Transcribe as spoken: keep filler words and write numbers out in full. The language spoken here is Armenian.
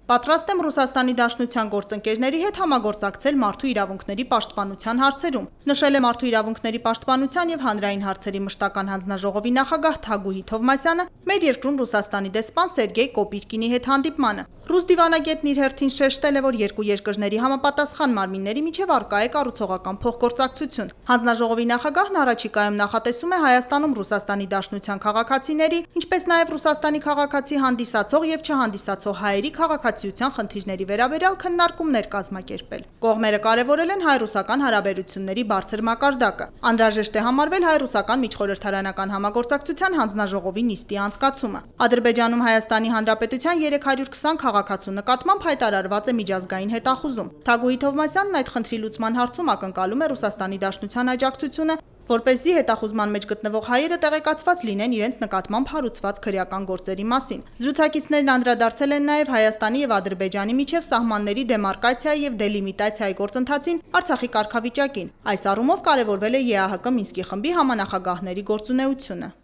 Պատրաստ եմ Ռուսաստանի Դաշնության գործընկերների հետ համագործակցել մարդու իրավունքների պաշտպանության հարցերում, նշել է Մարդու իրավունքների պաշտպանության և հանրային հարցերի մշտական հանձնաժողովի նախագահ Թագուհի Թովմասյանը մեր երկրում Ռուսաստանի դեսպան Սերգեյ Կոպիրկինի հետ հանդիպմանը։ Ռուս դիվանագետն իր հերթին շեշտել է, որ երկու երկրների համապատասխան մարմինների միջև առկա է կառուցողական փոխգործակցություն։ Հանձնաժողովի նախագահն առաջիկայում նախատեսում է Հայաստանում Ռուսաստանի Դաշնության քաղաքացիների, ինչպես նաև Ռուսաստանի քաղաքացի հանդիսացող և չհանդիսացող հայերի քաղաքացիության խնդիրների վերաբերյալ քննարկումներ կազմակերպել։ Կողմերը կարևորել են հայ-ռուսական հարաբերությունների բարձր մակարդակը։ Անհրաժեշտ է համարվել հայ-ռուսական միջխորհրդարանական համագործակցության հանձնաժողովի նիստի անցկացումը։ Ադրբեջանում Հայաստանի Հանրապետության երեք հարյուր քսան քաղաքացու նկատմամբ հայտարարված է միջազգային հետախուզում։ Թագուհի Թովմասյանն այդ խնդրի լուծման հարցում ակնկալում է Ռուսաստանի Դաշնության աջակցությունը, որպեսզի հետախուզման մեջ գտնվող հայերը տեղեկացված լինեն իրենց նկատմամբ հարուցված քրեական գործերի մասին։ Զրուցակիցներն անդրադարձել են նաև Հայաստանի և Ադրբեջանի միջև սահմանների դեմարկացիայի և դելիմիտացիայի գործընթացին, Արցախի կարգավիճակին։ Այս առումով կարևորվել է ԵԱՀԿ Մինսկի խմբի համանախագահների գործունեությունը։